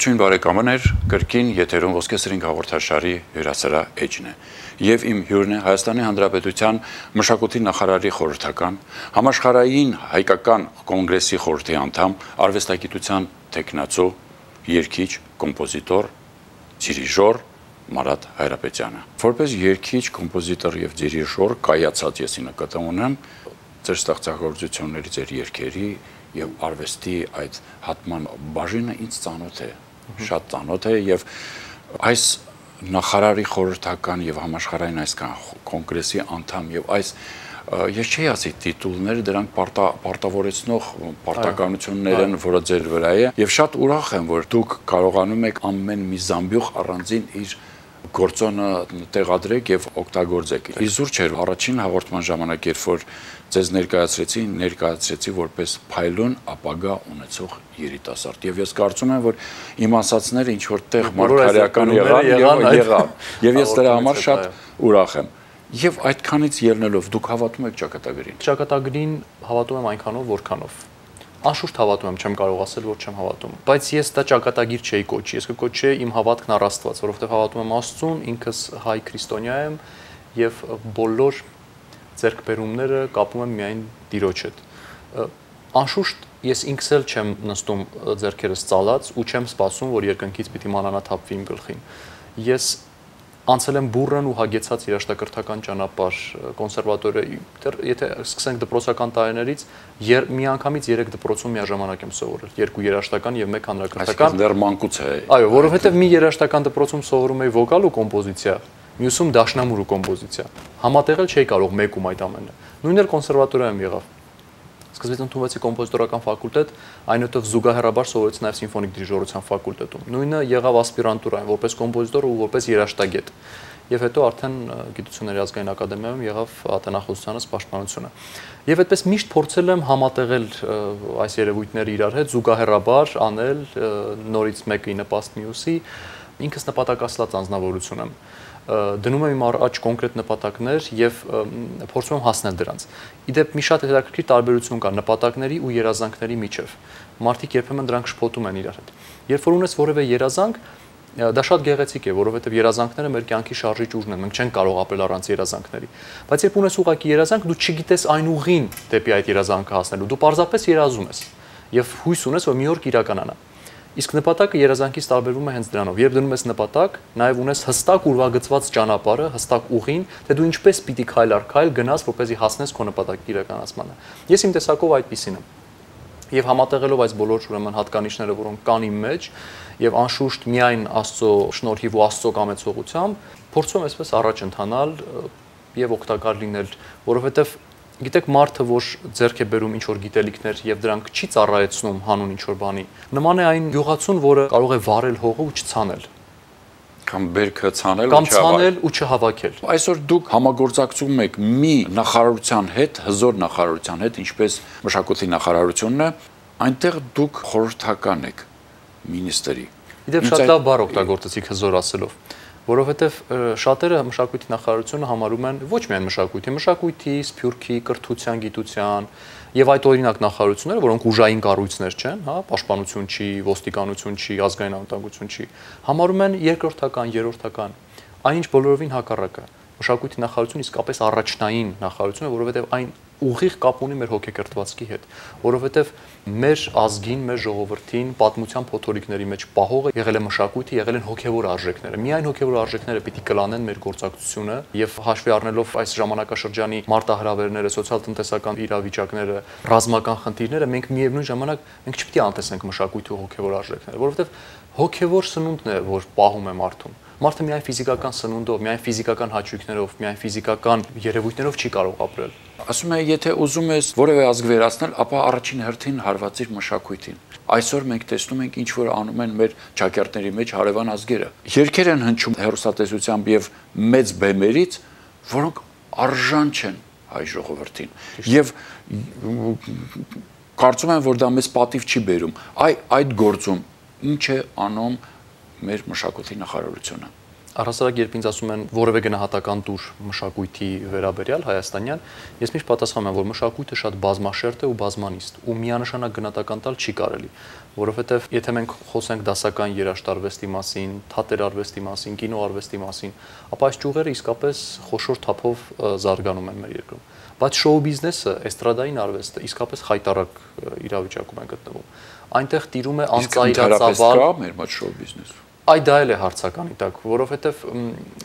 Ողջույն բարեկամներ, կրկին եթերում Ոսկե սրինգ հաղորդաշարի հյուրասերա էջն է։ Եվ իմ հյուրն է Հայաստանի Հանրապետության մշակույթի նախարարի խորհրդական, համաշխարհային հայկական կոնգրեսի խորհրդի անդամ, արվեստագիտության թեկնածու, երգիչ, կոմպոզիտոր, դիրիժոր Մարատ Հայրապետյանը։ Որպես երգիչ, կոմպոզիտոր եւ դիրիժոր կայացած եսի նկատի ունեմ ձեր ստեղծագործությունների, ձեր երգերի եւ արվեստի այդ հատման բաժինը ինձ ծանոթ է, շատ ծանոթ է եւ այս նախարարի խորհրդական եւ համաշխարհային այսքան կոնգրեսի անդամ եւ այս ես չի ասի տիտուլները դրանք պարտավորեցնող պարտականություններ են, որը ձեր վրա է եւ շատ ուրախ եմ, որ դուք կարողանում եք ամեն մի զամբյուղ առանձին իր գործոնը տեղադրեք եւ օգտագործեք։ Իզուր չէր առաջին հաղորդման ժամանակ, երբ որ ձեզ ներկայացրեցի որպես փայլուն ապագա ունեցող երիտասարդ։ Եվ ես կարծում եմ, որ իմ ասածները ինչ որտեղ մարգարեական եղան եւ ես դրա համար շատ ուրախ եմ։ Եվ այդքանից ելնելով դուք հավատում եք ճակատագրին։ Ճակատագրին հավատում եմ այնքանով, որքանով։ Անշուշտ հավատում եմ, չեմ կարող ասել, որ չեմ հավատում։ Բայց ես դա ճակատագիր չէի կոչի, ես կկոչեի իմ հավատքն առ Աստված, որովհետև հավատում եմ Աստծուն, ինքս հայ քրիստոնյա եմ եւ բոլոր ձեռքբերումները կապում եմ միայն Տիրոջ հետ։ Անշուշտ ես ինքս էլ չեմ նստում ձեռքերս ծալած ու չեմ սպասում, որ երկնքից պիտի մանանա թափվի իմ գլխին։ Ես անցել եմ բուրըն ու հագեցած երաժշտակրթական ճանապարհ կոնսերվատորիայի, եթե սկսենք դպրոցական տարիներից, միանգամից 3 դպրոցում միաժամանակ եմ սովորել, 2 երաժշտական եւ 1 հանրակրթական։ Դեռ մանկուց է։ Այո, որովհետեւ մի երաժշտական դպրոցում սովորում էի վոկալ ու կոմպոզիցիա, մյուսում դաշնամուր ու կոմպոզիցիա։ Համատեղել չէի կարող մեկում այդ ամենը։ Նույնն էլ կոնսերվատորիայում եղավ։ Սկզբից ընդունվեցի կոմպոզիտորական ֆակուլտետ, այնուհետև զուգահեռաբար սովորեցի նաև սիմֆոնիկ դիրիժորության ֆակուլտետում։ Նույնը եղավ ասպիրանտուրայում, որպես կոմպոզիտոր ու որպես երաժշտագետ։ Եվ հետո արդեն Գիտությունների ազգային ակադեմիայում եղավ ատենախոսությանս պաշտպանությունը։ Եվ այդպես միշտ փորձել եմ համատեղել այս երևույթները իրար հետ, զուգահեռաբար անել նորից մեկը ի նպաստ մյուսի, ինքս նպատակասլաց անձնավորություն եմ։ Դնում եմ իմ առաջ կոնկրետ նպատակներ եւ փորձում եմ հասնել դրանց։ Իդեպ մի շատ հետաքրքիր տարբերություն կա նպատակների ու երազանքների միջև։ Մարդիկ երբեմն դրանք շփոթում են իրար հետ։ Երբ որ ունես որևէ երազանք, դա շատ գեղեցիկ է, որովհետեւ երազանքները մեր կյանքի շարժիչ ուժն են, մենք չենք կարող ապրել առանց երազանքների։ Բայց երբ ունես ուղղակի երազանք, դու չգիտես այն ուղին դեպի այդ երազանքը հասնելու, դու պարզապես երազում ես եւ հույս ունես, որ մի օր կիրականանա։ Իսկ նպատակը երազանքից տարբերվում է հենց դրանով։ Երբ դնում ես նպատակ, նաև ունես հստակ ուրվագծված ճանապարհը, հստակ ուղին, թե դու ինչպես պիտի քայլ առ քայլ գնաս, որպեսզի հասնես քո նպատակի իրականացմանը։ Ես իմ տեսակով այդպիսին եմ։ Եվ համատեղելով այս բոլոր ուրեմն հատկանիշները, որոնք կան իմ մեջ, եւ անշուշտ միայն Աստծո շնորհիվ ու Աստծո կամեցողությամբ, փորձում եմ այսպես առաջ ընթանալ եւ օգտակար լինել, որովհետեւ գիտեք, մարդը, որ ձեռք է բերում ինչ-որ գիտելիքներ եւ դրանք չի ծառայեցնում հանուն ինչ-որ բանի, նման է այն գյուղացուն, որը կարող է վառել հողը ու չցանել։ Կամ բերքը ցանել ու չհավաքել։ Այսօր դուք համագործակցում եք մի նախարարության հետ, հզոր նախարարության հետ, ինչպես մշակույթի նախարարությունն է, այնտեղ դուք խորհրդական եք մինիստրի։ Իդեպ շատ լավ բառ օգտագործեցիք հզոր ասելով, որովհետև շատերը մշակույթի նախարարությունը համարում են ոչ միայն մշակույթի, սփյուռքի, կրթության, գիտության եւ այդ օրինակ նախարարությունները, որոնք ուժային կառույցներ չեն, հա, պաշտպանություն չի, ոստիկանություն չի, ազգային անվտանգություն չի, համարում են երկրորդական, երրորդական, այնինչ բոլորովին հակառակը։ Մշակույթի նախարարությունը իսկապես առաջնային նախարարություն է, որովհետև այն ուղիղ կապ ունի մեր հոգեկրթվածքի հետ, որովհետև մեր ազգին, մեր ժողովրդին պատմության փոթորիկների մեջ պահողը եղել է մշակույթը, եղել են հոգևոր արժեքները։ Միայն հոգևոր արժեքները պիտի կլանեն մեր գործակցությունը եւ հաշվի առնելով այս ժամանակաշրջանի մարտահրավերները, սոցիալ-տնտեսական իրավիճակները, ռազմական խնդիրները, մենք միևնույն ժամանակ մենք չպիտի անտեսենք մշակույթի ու հոգևոր արժեքները, որովհետև հոգևոր սնունդն է, որ պահում է մարդուն։ Մարդը միայն ֆիզիկական սնունդով, միայն ֆիզիկական հաճույքներով, միայն ֆիզիկական երևույթներով չի կարող ապրել։ Ասում եմ, եթե ուզում ես որևէ ազգ վերացնել, ապա առաջին հերթին հարվածիր մշակույթին։ Այսօր մենք տեսնում ենք ինչ որ անում են մեր ճակերտների մեջ հարևան ազգերը։ Երգեր են հնչում հեռուստատեսությամբ եւ մեծ բեմերից, որոնք արժան չեն հայ ժողովրդին։ Եվ կարծում եմ, որ դա մեզ պատիվ չի բերում։ Այդ գործում ինչ է անում մեր մշակույթի նախարարությունը։ Առհասարակ երբ ինձ ասում են որևէ գնահատական տուր մշակույթի վերաբերյալ հայաստանյան, ես միշտ պատասխանում եմ, որ մշակույթը շատ բազմաշերտ է ու բազմանիստ, ու միանշանակ գնահատական տալ չի կարելի, որովհետև եթե մենք խոսենք դասական երաժշտարվեստի մասին, թատերարվեստի մասին, կինոարվեստի մասին, ապա այս ճյուղերը իսկապես խոշոր թափով զարգանում են մեր երկրում։ Բայց շոու բիզնեսը, էստրադային արվեստը իսկապես խայտառակ իրավիճակում է գտնվում։ Այնտեղ տիրում է անծայրածավալ մեր մոտ շոու բիզնես։ Այ դա էլ է հարցականի տակ, որովհետև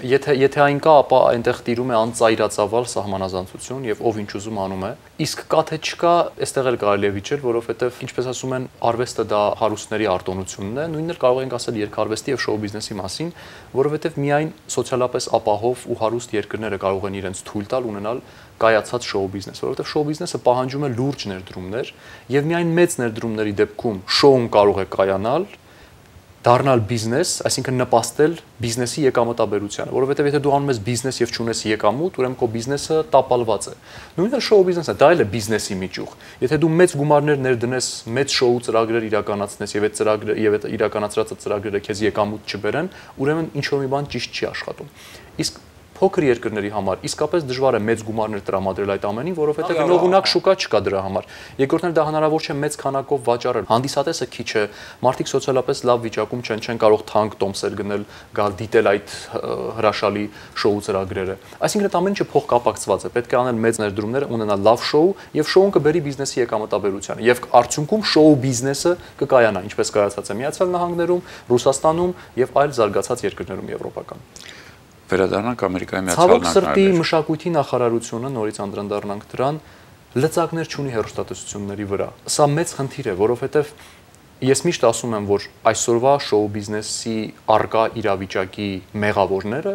եթե այն կա, ապա այնտեղ տիրում է անծայրածավալ սահմանազանցություն եւ ով ինչ ուզում անում է։ Իսկ կա թե չկա, այստեղ էլ կարելի է վիճել, որովհետև ինչպես ասում են, արվեստը դա հարուստների արտոնությունն է, նույնն էլ կարող ենք ասել երկարվեստի եւ շոու բիզնեսի մասին, որովհետև միայն սոցիալապես ապահով ու հարուստ երկրները կարող են իրենց թույլ տալ ունենալ կայացած շոու բիզնես, որովհետև շոու բիզնեսը պահանջում է լուրջ ներդրումներ եւ միայն մեծ ներդրումների դեպքում շոուն կարող է կայանալ, դառնալ բիզնես, այսինքն նպաստել բիզնեսի եկամտաբերությանը, որովհետև եթե դու անում ես բիզնես եւ չունես եկամուտ, ուրեմն քո բիզնեսը տապալված է։ Նույնիսկ շոու բիզնեսը դա էլ է բիզնեսի միջուղ։ Եթե դու մեծ գումարներ ներդնես, մեծ շոու ծրագրեր իրականացնես եւ այդ ծրագրերը եւ այդ իրականացրած ծրագրերը քեզ եկամուտ չբերեն, ուրեմն ինչ որ մի բան ճիշտ չի աշխատում։ Իսկ փոքր երկրների համար իսկապես դժվար է մեծ գումարներ տրամադրել այդ ամենին, որովհետև գնողունակ շուկա չկա դրա համար։ Երկրորդն էլ դա հնարավոր չէ մեծ քանակով վաճառել։ Հանդիսատեսը քիչ է, մարդիկ սոցիալապես լավ վիճակում չեն կարող թանկ տոմսեր գնել, գալ դիտել այդ հրաշալի շոու ծրագրերը։ Այսինքն այդ ամենը փոխկապակցված է։ Պետք է անել մեծ ներդրումներ, ունենալ լավ շոու եւ շոուն կբերի բիզնեսի եկամտաբերությանը։ Եվ արդյունքում շոու բիզնեսը կկայանա, ինչպես կայացած է Միացյալ Նահանգներում, Ռուսաստանում եւ այլ զարգացած երկրներում եվրոպական։ Վերադառնանք Ամերիկայի Միացյալ Նահանգներին։ Ցավոք սրտի Նահանգներին։ մշակույթի նախարարությունը նորից անդրադառնանք դրան, լծակներ չունի հեռուստատեսությունների վրա։ Սա մեծ խնդիր է, որովհետև ես միշտ ասում եմ, որ այսօրվա շոու բիզնեսի արկա իրավիճակի մեղավորները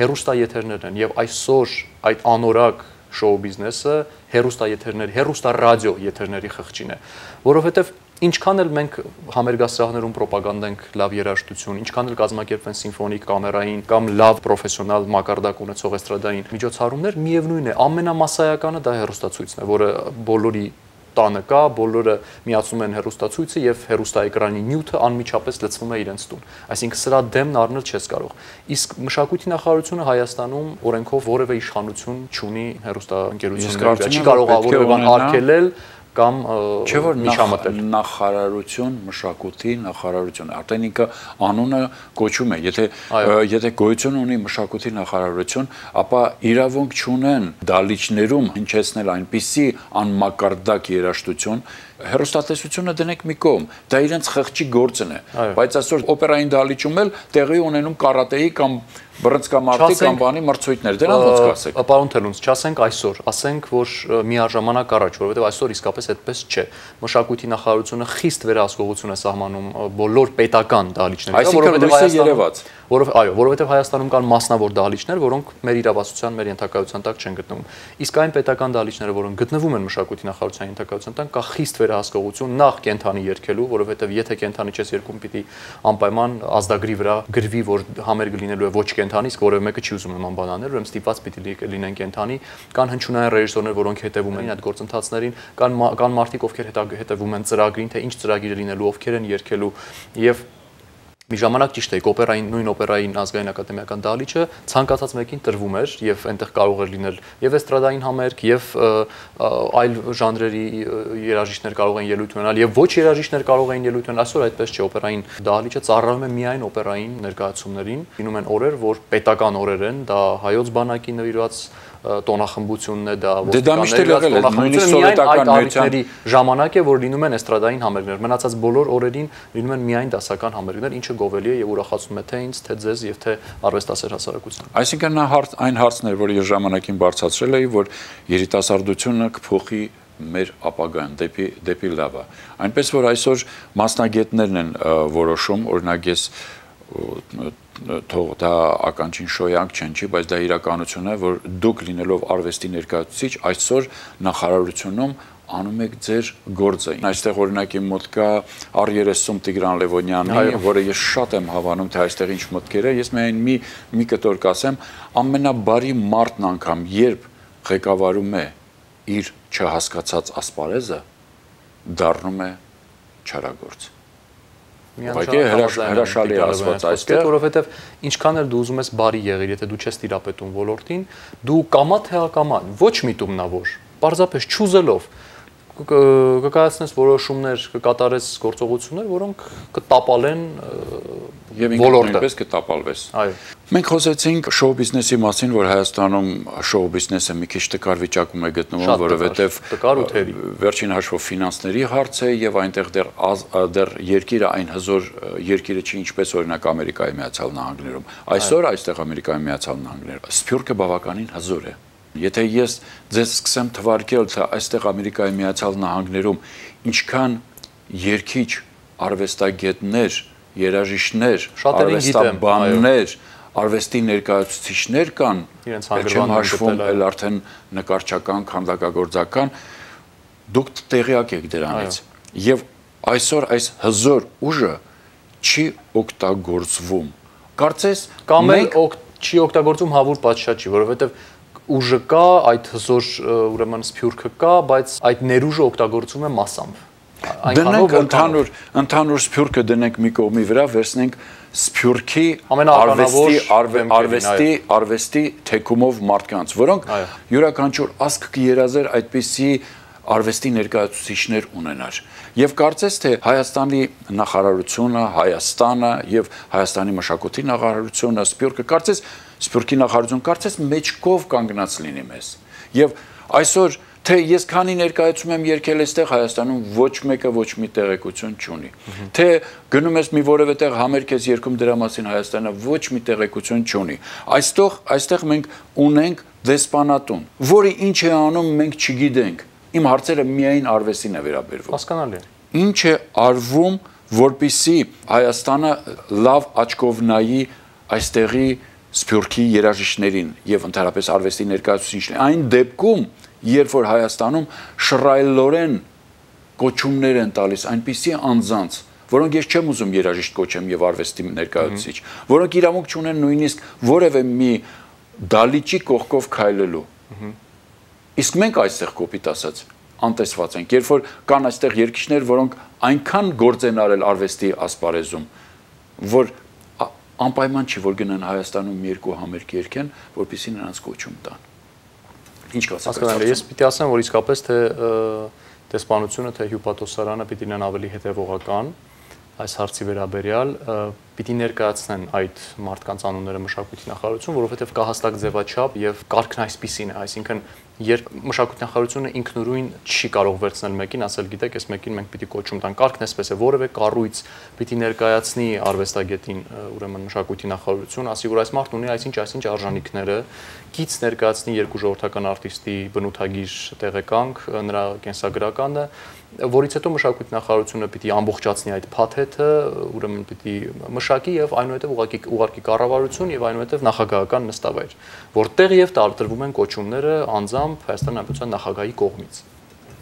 հեռուստաեթերներն են եւ այսօր այդ անորակ շոու բիզնեսը հեռուստաեթերների, հեռուստարադիո եթերների խղճին է, որովհետև ինչքան էլ մենք համերգասրահներում պրոպագանդենք լավ երաժշտություն, ինչքան էլ կազմակերպվեն սիմֆոնիկ, կամերային կամ լավ պրոֆեսիոնալ մակարդակ ունեցող էստրադային միջոցառումներ, միևնույն է, ամենամասսայականը դա հեռուստացույցն է, որը բոլորի տանը կա, բոլորը միացնում են հեռուստացույցը եւ հեռուստաէկրանի նյութը անմիջապես լցվում է իրենց տուն։ Այսինքն սրա դեմն առնել չես կարող։ Իսկ մշակույթի նախարարությունը Հայաստանում օրենքով որևէ իշխանություն չունի հեռուստաընկերությունների, չի կարող որևէ բան արգելել կամ միջամտել։ Նախարարություն, մշակույթի նախարարություն, արդեն ինքը անունը կոչում է, եթե գոյություն ունի մշակույթի նախարարություն, ապա իրավունք չունեն դալիճներում հնչեցնել այնպիսի անմակարդակ երաժշտություն, հեռուստատեսությունը դնենք մի կողմ, դա իրենց խղճի գործն է, բայց այսօր օպերային դալիճում էլ տեղի ունենում կարատեի կամ բռնցքամարտի կամ բանի մրցույթներ, դրանց ոնց կասեք։ Պարոն Թելունց, չասենք այսօր, ասենք որ միաժամանակ առաջ, որովհետև այսօր իսկապես այդպես չէ։ Մշակույթի նախարարությունը խիստ վերահսկողություն է սահմանում բոլոր պետական դահլիճների վրա, որովհետև Հայաստանում կան մասնավոր դահլիճներ, որոնք մեր իրավասության, մեր ենթակայության տակ չեն գտնվում։ Իսկ այն պետական դահլիճները, որոնք գտնվում են մշակույթի նախարարության ենթակայության տակ, կա խիստ վերահսկողություն նախ կենթանի երգելու, որովհետև եթե կենթանի չես երգում, պիտի անպայման ազդագրի վրա գրվի, որ համերգ լինելու է ոչ կենթանի, իսկ որևէ մեկը չի ուզում նման բան անել, ուրեմն ստիպված պիտի լինեն կենթանի, կան հնչյունային ռեժիսորներ, որոնք հետևում են այդ գործընթացներին, կան մարդիկ, ովքեր հետևում են ծրագրին, թե ինչ ծրագիր լինելու, ովքեր են երգելու եւ մի ժամանակ ճիշտ է, նույն օպերային ազգային ակադեմիական դահլիճը ցանկացած մեկին տրվում էր եւ այնտեղ կարող էր լինել եւ էստրադային համերգ եւ այլ ժանրերի երաժիշտներ կարող են ելույթ ունենալ եւ ոչ երաժիշտներ կարող են ելույթ ունենալ, այսօր այդպես չէ, օպերային դահլիճը ծառայում է միայն օպերային ներկայացումներին, լինում են օրեր, որ պետական օրեր են, դա հայոց բանակի նվիրված տոնախմբությունն է, դա ոստիկանների ժամանակ է, որ լինում են էստրադային համերգներ, մնացած բոլոր օրերին լինում են միայն դասական համերգներ, ինչը գովելի է եւ ուրախացնում է թե ինձ, թե ձեզ եւ թե արվեստասեր հասարակությանը։ Այսինքն նա այն հարցն էր, որ ես ժամանակին բարձրացրել էի, որ երիտասարդությունը կփոխի մեր ապագան դեպի լավը։ Այնպես որ այսօր մասնագետներն են որոշում, օրինակ ես թող դա ականջին շոյանք չեն, չի, բայց դա իրականություն է, որ դուք լինելով արվեստի ներկայացուցիչ այսօր նախարարությունում անում եք ձեր գործը։ Այստեղ օրինակ իմ մոտ կա R30 Տիգրան Լևոնյանի, որը ես շատ եմ հավանում, թե այստեղ ինչ մտքեր է, ես միայն մի կտոր կասեմ, ամենաբարի մարդն անգամ, երբ ղեկավարում է իր չհասկացած ասպարեզը, դառնում է չարագործ։ հրաշալի ասված այստեղ, որովհետև ինչքան էլ դու ուզում ես բարի եղիր, եթե դու չես տիրապետում ոլորտին, դու կամա թե ակամա ոչ միտումնավոր, պարզապես չուզելով կկայացնես որոշումներ, կկատարես գործողություններ, որոնք կտապալեն եւ ինքնուրույնպես կտապալվես։ Այո։ Մենք խոսեցինք շոու բիզնեսի մասին, որ Հայաստանում շոու բիզնեսը մի քիչ տկար վիճակում է գտնվում, որովհետեւ վերջին հաշվով ֆինանսների հարց է եւ այնտեղ դեռ երկիրը այն հզոր երկիրը չի, ինչպես օրինակ Ամերիկայի Միացյալ Նահանգներում։ Այսօր այստեղ Ամերիկայի Միացյալ Նահանգներում սփյուռքը բավականին հզոր է։ Եթե ես ձեզ սկսեմ թվարկել, թե այստեղ Ամերիկայի Միացյալ Նահանգներում ինչքան երկիչ արվեստագետներ, երաժիշտներ, արվեստաբաններ, արվեստի ներկայացուցիչներ կան, չեմ հաշվում էլ արդեն նկարչական, քանդակագործական, դուք տեղյակ եք դրանից։ Եվ այսօր այս հզոր ուժը չի օգտագործվում։ Կարծես կամ չի օգտագործվում հավուր պատշաճի, որովհետև ուժը կա, այդ հզոր ուրեմն սփյուռքը կա, բայց այդ ներուժը օգտագործվում է մասամբ։ Դնենք ընդհանուր սփյուռքը դնենք մի կողմի վրա, վերցնենք սփյուռքի արվեստի թեկումով մարդկանց, որոնք յուրաքանչյուր ազգ կերազեր այդպիսի արվեստի ներկայացուցիչներ ունենար։ Եվ կարծես թե Հայաստանի նախարարությունը, Հայաստանը եւ Հայաստանի մշակույթի նախարարությունը, Սփյուռքի նախարարությունը կարծես մեջքով կանգնած լինի մեզ։ Եվ այսօր թե ես քանի ներկայացում եմ երկել այստեղ Հայաստանում ոչ մեկը ոչ մի տեղեկություն չունի։ Թե գնում ես մի որևէ տեղ համերգ ես երգում դրա մասին Հայաստանը ոչ մի տեղեկություն չունի։ Այստեղ մենք ունենք դեսպանատուն, որը ինչ է անում մենք չգիտենք։ Իմ հարցերը միայն արվեստին է վերաբերվում։ Հասկանալի է։ Ինչ է արվում, որպեսզի Հայաստանը լավ աչքով նայի այստեղի սփյուռքի երաժիշտներին եւ ընդհանրապես արվեստի ներկայացուցիչներին։ Այն դեպքում, երբ որ Հայաստանում շռայլորեն կոչումներ են տալիս այնպիսի անձանց, որոնք ես չեմ ուզում երաժիշտ կոչեմ եւ արվեստի ներկայացուցիչ, որոնք իրավունք չունեն նույնիսկ որևէ մի դալիճի կողքով քայլելու։ Իսկ մենք այստեղ կոպիտ ասած անտեսված ենք, երբ որ կան այստեղ երկիչներ, որոնք այնքան գործ են արել արվեստի ասպարեզում, որ անպայման չի, որ գնան Հայաստանում երկու համերգ երգեն, որպեսզի նրանց կոչում տան։ Ինչ կասեք։ Ես պիտի ասեմ, որ իսկապես թե դեսպանությունը, թե հյուպատոսարանը պիտի լինեն ավելի հետևողական այս հարցի վերաբերյալ, պիտի ներկայացնեն այդ մարդկանց անունները մշակույթի նախարարություն, որովհետև կա հստակ ձևաչափ եւ կարգն այսպիսին է, այսինքն երբ մշակույթի նախարարությունը ինքնուրույն չի կարող վերցնել մեկին, ասել գիտեք, այս մեկին մենք պիտի կոչում տանք, կարգն այսպես է, որևէ կառույց պիտի ներկայացնի արվեստագետին, ուրեմն մշակույթի նախարարություն, ասի որ այս մարդն ունի այսինչ արժանինքները, կից ներկայացնի երկու ժողովրդական արտիստի բնութագիր տեղեկանք, նրա կենսագրականը, որից հետո մշակույթի նախարարությունը պիտի ամբողջացնի այդ փաթեթը, ուրեմն պիտի մշակի եւ այնուհետեւ ուղարկի կառավարություն եւ այնուհետեւ նախագահական նստավայր, որտեղ եւ տարբերվում են կոչումները անձամբ Հայաստանի Հանրապետության նախագահի կողմից։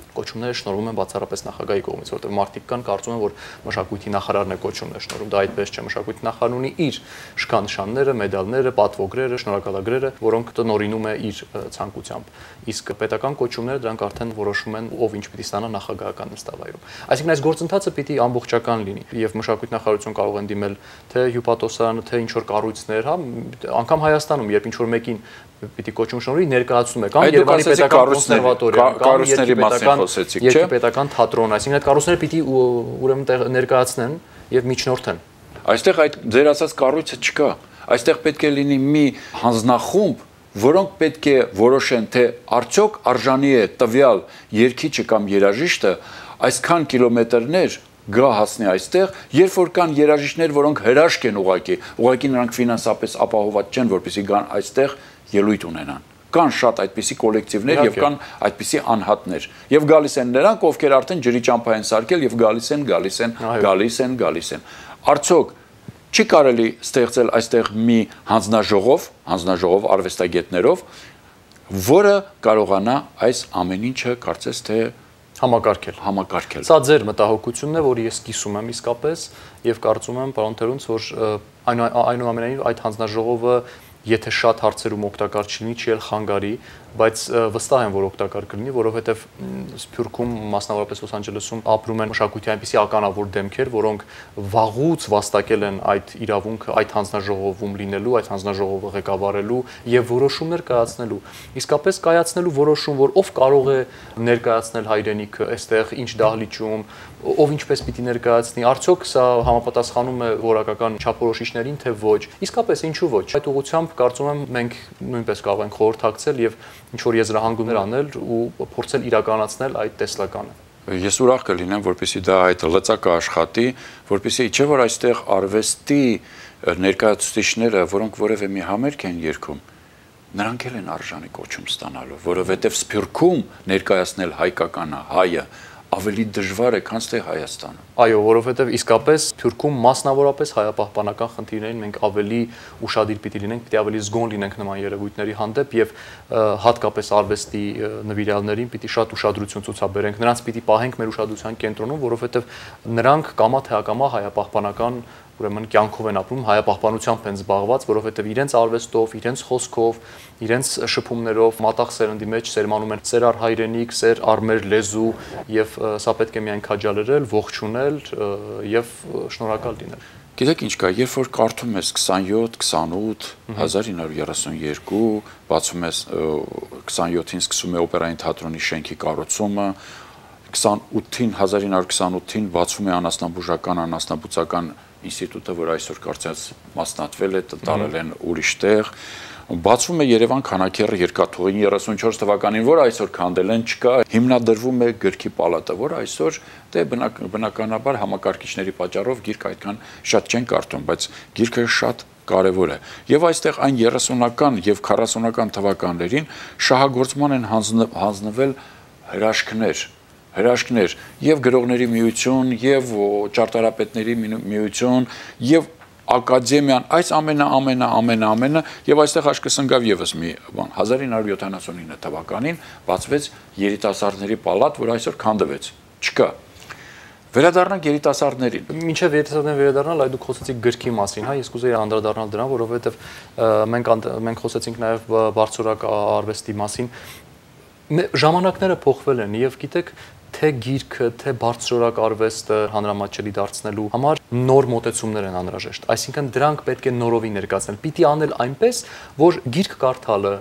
Կոչումները շնորհվում են բացառապես նախագահի կողմից, որտեղ մարդիկ կան կարծում են, որ մշակույթի նախարարն է կոչումներ շնորհում, դա այդպես չէ, մշակույթի նախարարն ունի իր շքանշանները, մեդալները, պատվոգրերը, շնորհակալագրերը, որոնք տնօրինում է իր ցանկությամբ։ Իսկ պետական կոչումները դրանք արդեն որոշում են ով ինչ պիտի ստանա նախագահական նստավայրում։ Այսինքն այս գործընթացը պիտի ամբողջական լինի եւ մշակույթի նախարարություն կարող են դիմել թե հյուպատոսարանը, թե ինչ որ կառույցներ, հա, անգամ Հայաստանում, երբ ինչ որ մեկին պիտի կոչում շնորհի ներկայացնում է կամ Երևանի պետական կոնսերվատորիա կամ երկի պետական թատրոն, այսինքն այդ կառույցները պիտի ուրեմն ներկայացնեն եւ միջնորդեն։ Այստեղ այդ ձեր ասած կառույցը չկա։ Այստեղ պետք է լինի մի հանձնախումբ, որոնք պետք է որոշեն, թե արդյոք արժանի է տվյալ երգիչը կամ երաժիշտը այսքան կիլոմետրներ գա հասնի այստեղ, երբ որ կան երաժիշտներ, որոնք հրաշք են ուղղակի նրանք ֆինանսապես ապահոված չեն, որպեսզի գան այստեղ ելույթ ունենան։ Կան շատ այդպիսի կոլեկտիվներ եւ կան այդպիսի անհատներ։ Եվ գալիս են նրանք, ովքեր արդեն ջրի ճամփա են սարքել եւ գալիս են։ Արդյոք չի կարելի ստեղծել այստեղ մի հանձնաժողով արվեստագետներով, որը կարողանա այս ամեն ինչը կարծես թե համակարգել։ Սա ձեր մտահոգությունն է, որը ես կիսում եմ իսկապես եւ կարծում եմ, պարոն Թերունց, որ այնուամենայնիվ այդ հանձնաժողովը եթե շատ հարցերում օգտակար չլինի, չի էլ խանգարի բայց վստահ եմ, որ օգտակար կլինի, որովհետև Սփյուռքում, մասնավորապես Լոս Անջելեսում ապրում են մշակույթի այնպիսի ականավոր դեմքեր, որոնք վաղուց վաստակել են այդ իրավունքը, այդ հանձնաժողովում լինելու, այդ հանձնաժողովը ղեկավարելու եւ որոշումներ կայացնելու։ Իսկապես կայացնելու որոշում, որ ով կարող է ներկայացնել հայրենիքը այստեղ, ինչ դահլիճում, ով ինչպես պիտի ներկայացնի, արդյոք սա համապատասխանում է որակական չափորոշիչներին, թե ոչ։ Իսկապես ինչու ոչ։ Այդ ուղղությամբ կարծում եմ մենք նույնպես կարող ենք խորհրդակցել եւ ինչ որ եզրահանգումներ անել ու փորձել իրականացնել այդ տեսլականը։ Ես ուրախ կլինեմ, որպեսզի դա այդ լծակը աշխատի, որպեսզի չէ որ այստեղ արվեստի ներկայացուցիչները, որոնք որևէ մի համերգ են երգում, նրանք էլ են արժանի կոչում ստանալու, որովհետև Սփյուռքում ներկայացնել հայկականը, հայը ավելի դժվար է, քան թե Հայաստանում։ Այո, որովհետև իսկապես Թուրքում մասնավորապես հայապահպանական խնդիրներին մենք ավելի ուշադիր պիտի լինենք, պիտի ավելի զգոն լինենք նման երևույթների հանդեպ եւ հատկապես արվեստի նվիրյալներին պիտի շատ ուշադրություն ցուցաբերենք։ Նրանց պիտի պահենք մեր ուշադրության կենտրոնում, որովհետև նրանք կամա թե ակամա հայապահպանական ուրեմն կյանքով են ապրում, հայապահպանությամբ են զբաղված, որովհետև իրենց արվեստով, իրենց խոսքով, իրենց շփումներով մատաղ սերնդի մեջ սերմանում են սեր առ հայրենիք, սեր առ մեր լեզու եւ սա պետք է միայն քաջալերել, ողջունել եւ շնորհակալ լինել։ Գիտեք ինչ կա, երբ որ կարդում ես 27, 28, 1932, բացում ես 27-ին սկսում է օպերային թատրոնի շենքի կառուցումը, 1928-ին բացվում է անասնաբուժական, անասնաբուծական ինստիտուտը, որ այսօր կարծես մասնատվել է, տարել են ուրիշ տեղ, բացվում է Երևան քանաքեռ երկաթուղին 34 թվականին, որ այսօր քանդել են, չկա, հիմնադրվում է գրքի պալատը, որ այսօր դե բնականաբար համակարգիչների պատճառով գիրք այդքան շատ չեն կարդում, բայց գիրքը շատ կարևոր է։ Եվ այստեղ այն 30-ական եւ 40-ական թվականներին շահագործման են հանձնվել հրաշքներ եւ գրողների միություն եւ ճարտարապետների միություն եւ ակադեմիան, այս ամենը եւ այստեղ աշկսնգավ եւս մի բան 1979 թվականին բացվեց երիտասարդների պալատ, որ այսօր քանդվեց, չկա։ Վերադառնանք երիտասարդներին։ Մինչև երիտասարդներին վերադառնալ, այդ դուք խոսեցիք գրքի մասին, հա, ես կուզեի անդրադառնալ դրան, որովհետեւ մենք խոսեցինք նաեւ բարձրորակ արվեստի մասին։ Ժամանակները փոխվել են եւ գիտեք, թե գիրքը, թե բարձրորակ արվեստը հանրամատչելի դարձնելու համար նոր մոտեցումներ են անհրաժեշտ։ Այսինքն դրանք պետք է նորովի ներկայացնել։ Պիտի անել այնպես, որ գիրք կարդալը,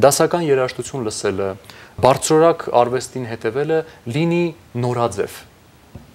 դասական երաժշտություն լսելը, բարձրորակ արվեստին հետևելը լինի նորաձև,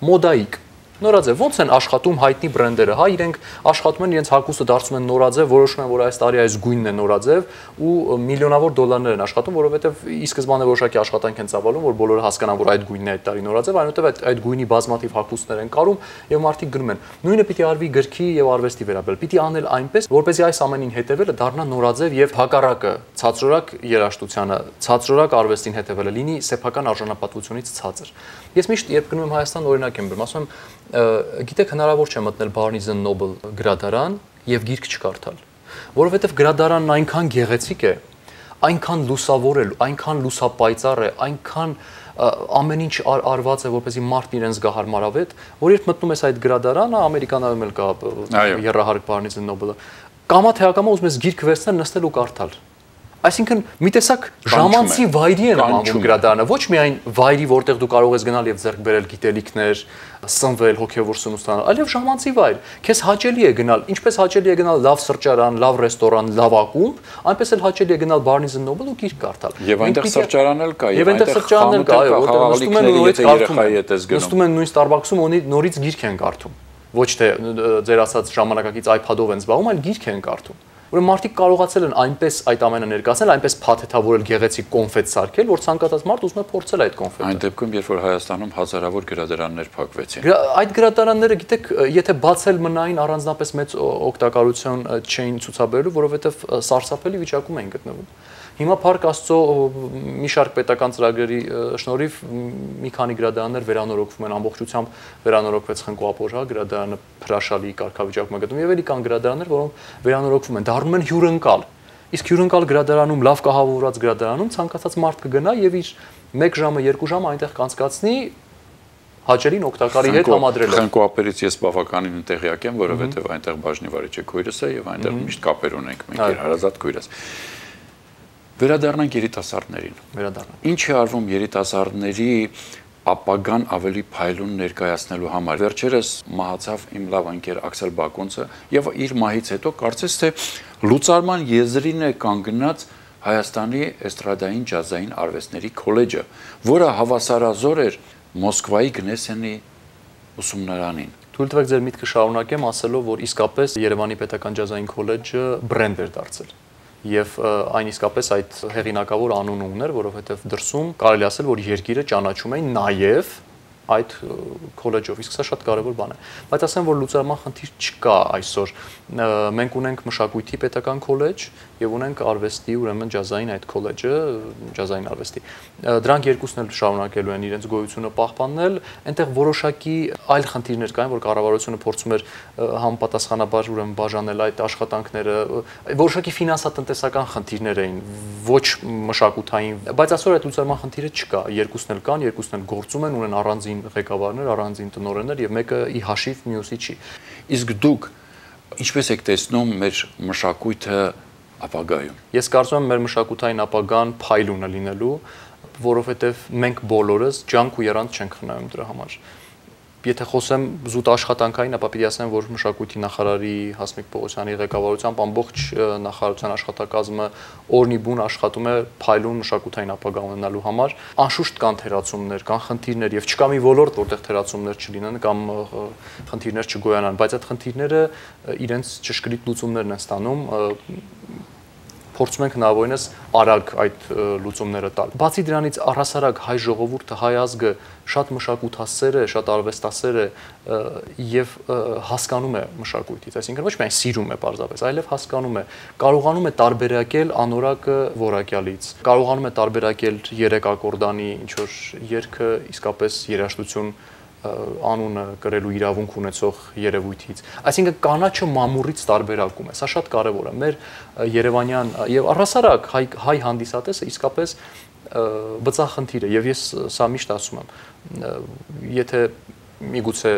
մոդայիկ։ Նորաձև, ոնց են աշխատում հայտնի բրենդերը, հա, իրենք աշխատում են իրենց հագուստը դարձնում են նորաձև, որոշում են, որ այս տարի այս գույնն է նորաձև ու միլիոնավոր դոլարներ են աշխատում, որովհետև ի սկզբանե որոշակի աշխատանք են ծավալում, որ բոլորը հասկանան, որ այդ գույնն է այդ տարի նորաձև, այնուհետև այդ գույնի բազմաթիվ հագուստներ են կարում եւ մարդիկ գրում են։ Նույնը պիտի արվի գրքի եւ արվեստի վերաբերյալ։ Պիտի անել այնպես, որպեսզի այս ամենին հետևելը դառնա նորաձև եւ հակառակը ցածրորակ երաժշտությանը, ցածրորակ արվեստին հետևելը լինի սեփական արժանապատվությունից ցածր։ Ես միշտ երբ գնում եմ Հայաստան, օրինակ եմ բերում, ասում եմ, գիտեք, հնարավոր չէ մտնել Barnes & Noble գրադարան եւ գիրք չկարդալ, որովհետեւ գրադարանն այնքան գեղեցիկ է, այնքան լուսավոր է, այնքան լուսապայծառ է, այնքան ամեն ինչ արված է, որպեսզի մարդն իրեն զգա հարմարավետ, որ երբ մտնում ես այդ գրադարանը, ամերիկանայում էլ կա եռահարկ Barnes & Noble-ը, կամա թե ակամա ուզում ես գիրք վերցնել, նստել ու կարդալ։ Այսինքն մի տեսակ ժամանցի վայրի են անվում գրադարանը, ոչ միայն վայրի, որտեղ դու կարող ես գնալ եւ ձեռք բերել գիտելիքներ, սնվել, հոգեվոր սնունդ ստանալ, այլև ժամանցի վայր։ Քեզ հաճելի է գնալ, ինչպես հաճելի է գնալ լավ սրճարան, լավ ռեստորան, լավ ակումբ, այնպես էլ հաճելի է գնալ Barnes & Noble ու գիրք կարդալ։ Եվ այնտեղ սրճարան էլ կա, եւ այնտեղ սրճարանն էլ կա, այո, որտեղ նստում են նորից կարդում։ Նստում են նույն Starbucks-ում նորից գիրք են կարդում։ Ոչ թե ձեր ասած ժամանակակից iPad-ով են զբաղվում, այլ գիրք են կարդում։ Ուրեմն մարդիկ կարողացել են այնպես այդ ամենը ներկայացնել, այնպես փաթեթավորել գեղեցիկ կոնֆետ սարքել, որ ցանկացած մարդ ուզում է փորձել այդ կոնֆետը։ Այն դեպքում, երբ որ Հայաստանում հազարավոր գրադարաններ փակվեցին։ Այդ գրադարանները, գիտեք, եթե բացել մնային, առանձնապես մեծ օգտակարություն չէին ցուցաբերելու, որովհետև սարսափելի վիճակում էին գտնվում։ Հիմա Փառք Աստծո մի շարք պետական ծրագրերի շնորհիվ մի քանի գրադարաններ վերանորոգվում են, ամբողջությամբ վերանորոգվեց Խնկո-Ապոր, հա, գրադարանը հրաշալի կարգավիճակում է գտնվում, եւ էլի կան գրադարաններ, որոնք վերանորոգվում են, դառնում են հյուրընկալ։ Իսկ հյուրընկալ գրադարանում, լավ կահավորված գրադարանում ցանկացած մարդ կգնա եւ իր 1 ժամը, 2 ժամը այնտեղ կանցկացնի հաճելին օգտակարի հետ համադրելով։ Խնկո-Ապերից ես բավականին տեղյակ եմ, որովհետեւ այնտեղ բաժնի վարիչ է քույրս է եւ այնտեղ միշտ կապեր ունենք մենք իր հարազատ քույրս։ Վերադառնանք երիտասարդներին։ Վերադառնանք։ Ինչ է արվում երիտասարդների ապագան ավելի փայլուն ներկայացնելու համար։ Վերջերս մահացավ իմ լավ ընկեր Աքսել Բակոնցը եւ իր մահից հետո կարծես թե լուծարման եզրին է կանգնած Հայաստանի էստրադային ջազային արվեստների քոլեջը, որը հավասարազոր էր Մոսկվայի Գնեսենի ուսումնարանին։ Թույլ տվեք ձեր միտքը շարունակեմ ասելով, որ իսկապես Երևանի Պետական ջազային քոլեջը բրենդ էր դարձել։ Եվ այն իսկապես այդ հեղինակավոր անունը ուներ, որովհետև դրսում կարելի ասել, որ երկիրը ճանաչում էին նաև այդ քոլեջով, իսկ սա շատ կարևոր բան է։ Բայց ասեմ, որ լուծարման խնդիր չկա այսօր։ Մենք ունենք մշակույթի պետական քոլեջ եւ ունենք արվեստի, ուրեմն ջազային այդ քոլեջը, ջազային արվեստի։ Դրանք երկուսն էլ շարունակելու են իրենց գոյությունը պահպանել, այնտեղ որոշակի այլ խնդիրներ կային, որ կառավարությունը փորձում էր համապատասխանաբար ուրեմն բաժանել այդ աշխատանքները, որոշակի ֆինանսատնտեսական խնդիրներ էին, ոչ մշակութային, բայց այսօր այդ լուծարման խնդիրը չկա, երկուսն էլ կան, երկուսն էլ գործում են, ունեն առանձին ղեկավարներ, առանձին տնօրեններ եւ մեկը ի հաշիվ մյուսի չի։ Իսկ դուք ինչպես եք տեսնում մեր մշակույթը ապագայում։ Ես կարծում եմ մեր մշակութային ապագան փայլուն է լինելու, որովհետև մենք բոլորս ջանք ու եռանդ չենք խնայում դրա համար։ Եթե խոսեմ զուտ աշխատանքային, ապա պիտի ասեմ, որ մշակույթի նախարարի Հասմիկ Պողոսյանի ղեկավարությամբ ամբողջ նախարարության աշխատակազմը օրնիբուն աշխատում է փայլուն մշակութային ապագա ունենալու համար։ Անշուշտ կան թերացումներ, կան խնդիրներ եւ չկա մի ոլորտ, որտեղ թերացումներ չլինեն կամ խնդիրներ չգոյանան, բայց այդ խնդիրները իրենց ճշգրիտ լուծումներն են ստանում, փորձում ենք հնարավորինս արագ այդ լուծումները տալ։ Բացի դրանից առհասարակ հայ ժողովուրդը, հայ ազգը շատ մշակութասեր է, շատ արվեստասեր է եւ հասկանում է մշակույթից, այսինքն ոչ միայն սիրում է պարզապես, այլև հասկանում է, կարողանում է տարբերակել անորակը որակյալից, կարողանում է տարբերակել երեք ակորդանի ինչ որ երգը իսկապես երաժշտություն անունը կրելու իրավունք ունեցող երևույթից։ Այսինքն կանաչը մամուռից տարբերակում է։ Սա շատ կարևոր է։ Մեր Երևանյան եւ առհասարակ հայ հանդիսատեսը իսկապես բծախնդիր է եւ ես սա միշտ ասում եմ։ Եթե միգուցե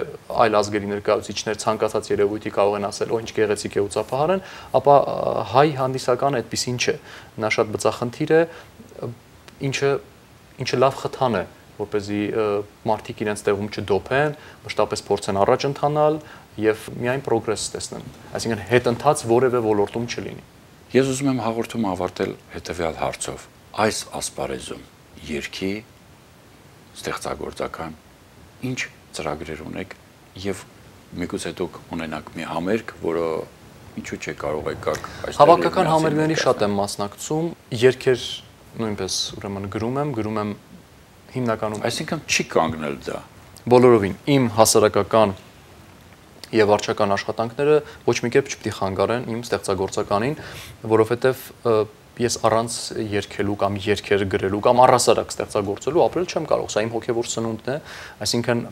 այլ ազգերի ներկայացուցիչներ ցանկացած երևույթի կարող են ասել, «Օ, ինչ գեղեցիկ է ու ծափահար են», ապա հայ հանդիսական այդպեսին չէ։ Նա շատ բծախնդիր է, ինչը լավ խթան է, որպեսզի մարդիկ իրենց տեղում չդոփեն, մշտապես փորձեն առաջ ընթանալ եւ միայն պրոգրես տեսնեն։ Այսինքն հետընթաց որևէ ոլորտում չլինի։ Ես ուզում եմ հաղորդումը ավարտել հետեւյալ հարցով. այս ասպարեզում երգի ստեղծագործական ինչ ծրագրեր ունեք եւ միգուցե դուք ունենաք մի համերգ, որը ինչու՞ չէ կարող եք գաք այստեղ։ Հավաքական համերգների շատ եմ մասնակցում, երգեր նույնպես ուրեմն գրում եմ հիմնականում, այսինքն չի կանգնել դա։ Բոլորովին իմ հասարակական եւ վարչական աշխատանքները ոչ մի կերպ չպետք է խանգարեն իմ ստեղծագործականին, որովհետեւ ես առանց երգելու կամ երգեր գրելու կամ առհասարակ ստեղծագործելու ապրել չեմ կարող, սա իմ հոգեվոր սնունդն է, այսինքն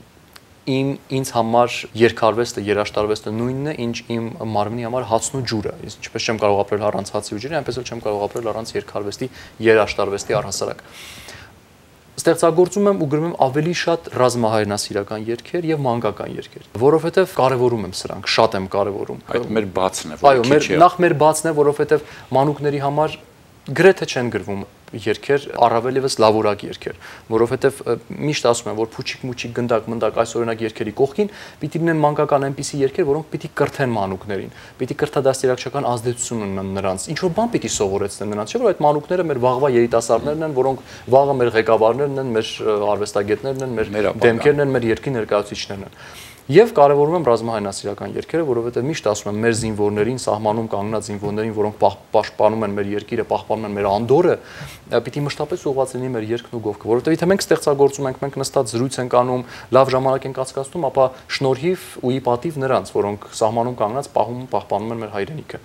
ինձ համար երգարվեստը, երաժշտարվեստը նույնն է, ինչ իմ մարմնի համար հացն ու ջուրը։ Ես ինչպես չեմ կարող ապրել առանց հացի ու ջրի, այնպես էլ չեմ կարող ապրել առանց երգարվեստի, երաժշտարվեստի առհասարակ։ Ստեղծագործում եմ ու գրում եմ ավելի շատ ռազմահայրենասիրական երգեր եւ մանկական երգեր, որովհետեւ կարեւորում եմ սրանք, շատ եմ կարեւորում։ Այդ մեր բացն է, այո, նախ մեր բացն է, որովհետեւ մանուկների համար գրեթե չեն գրվում երգեր, առավել եւս լավորակ երգեր, որովհետեւ միշտ ասում են, որ փուչիկ-մուչիկ գնդակ-մնդակ այս օրինակ երգերի կողքին պիտի լինեն մանկական այնպիսի երգեր, որոնք պիտի կրթեն մանուկներին, պիտի կրթադաստիարակչական ազդեցություն ունենան նրանց, ինչ որ բան պիտի սովորեցնեն նրանց, չէ՞ որ այդ մանուկները մեր վաղվա երիտասարդներն են, որոնք վաղը մեր ղեկավարներն են, մեր արվեստագետներն են, մեր դեմքերն են, մեր երկրի ներկայացուցիչներն են։ Եվ կարևորում եմ ռազմահայրենասիրական երգերը, որովհետև միշտ ասում եմ մեր զինվորներին, սահմանում կանգնած զինվորներին, որոնք պաշտպանում են մեր երկիրը, պահպանում են մեր անդորը, պիտի մշտապես ուղղված լինի մեր երգն ու գովքը, որովհետև եթե մենք ստեղծագործում ենք, մենք նստած զրույց ենք անում, լավ ժամանակ ենք անցկացնում, ապա շնորհիվ ու ի պատիվ նրանց, որոնք սահմանում կանգնած պահպանում են մեր հայրենիքը։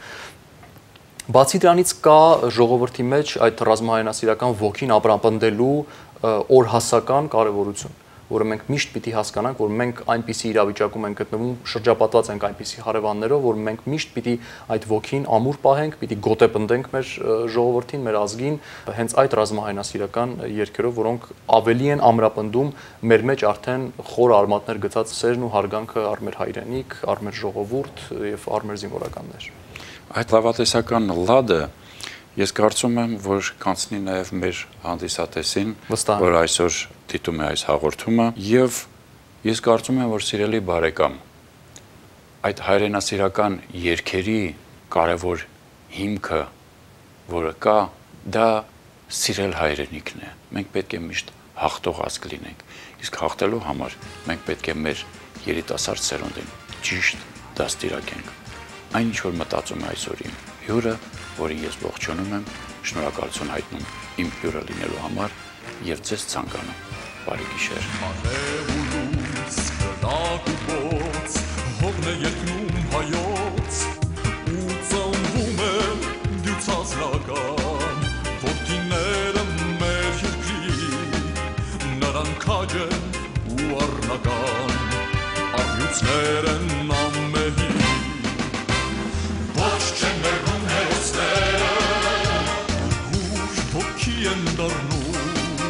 Բացի դրանից կա ժողովրդի մեջ այդ ռազմահայրենասիրական ոգին ապրապնդելու օրհասական կարևորություն, որը մենք միշտ պիտի հասկանանք, որ մենք այնպիսի իրավիճակում ենք գտնվում, շրջապատված ենք այնպիսի հարևաններով, որ մենք միշտ պիտի այդ ոգին ամուր պահենք, պիտի գոտեպնդենք մեր ժողովրդին, մեր ազգին, հենց այդ ռազմահայրենասիրական երգերով, որոնք ավելի են ամրապնդում մեր մեջ արդեն խոր արմատներ գցած սերն ու հարգանքը առ մեր հայրենիք, առ մեր ժողովուրդ եւ առ մեր զինվորականներ։ Այդ լավատեսական լադը Ես կարծում եմ, որ կանցնի նաև մեր հանդիսատեսին, Վստահ եմ։ որ այսօր դիտում է այս հաղորդումը, եւ ես կարծում եմ, որ սիրելի բարեկամ, այդ հայրենասիրական երգերի կարևոր հիմքը, որը կա, դա սիրել հայրենիքն է։ Մենք պետք է միշտ հաղթող ազգ լինենք։ Իսկ հաղթելու համար մենք պետք է մեր երիտասարդ սերունդին ճիշտ դաստիարակենք։ Այն ինչ որ մտածում է այսօր իմ հյուրը, որին ես ողջունում եմ, շնորհակալություն հայտնում իմ հյուրը լինելու համար եւ ձեզ ցանկանում բարի գիշեր։ Հողն է երկնում հայոց ու ծնվում է դյուցազնական որդիները մեր երկրի նրան քաջ են ու առնական առյուծներ են ամեհի ոչ չեն մերում հերոսները հուշ ոգի են դառնում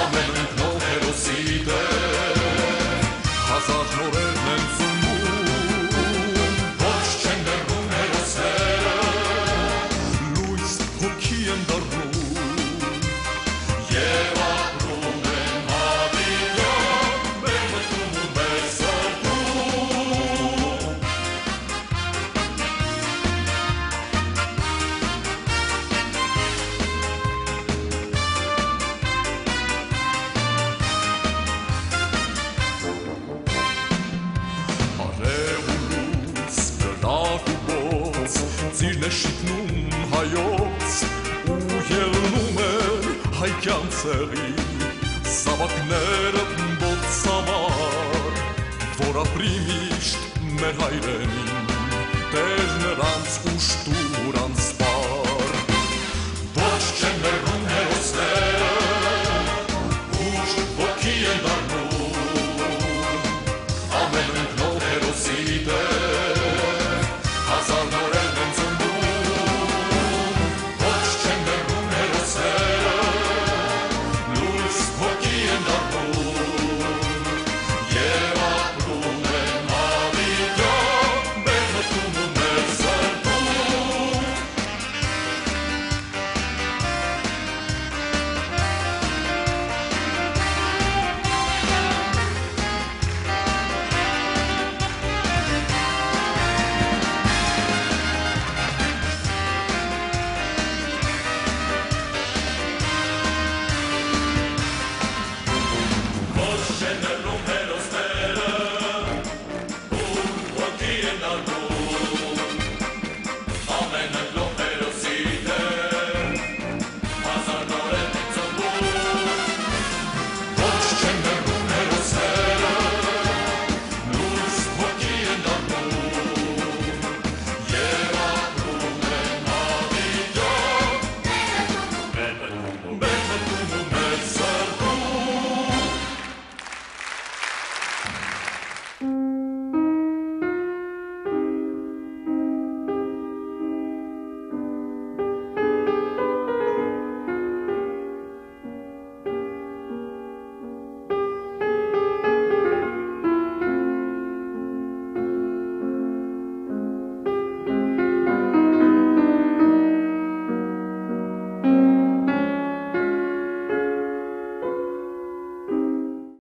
ամեն ընկնող հերոսի դեր հազար նորերն են շիթնում հայոց ու ելնում էր հայկյան ցեղի սավակները բոցավար որ ապրի միշտ մեր հայրենին տեր նրանց ուշտ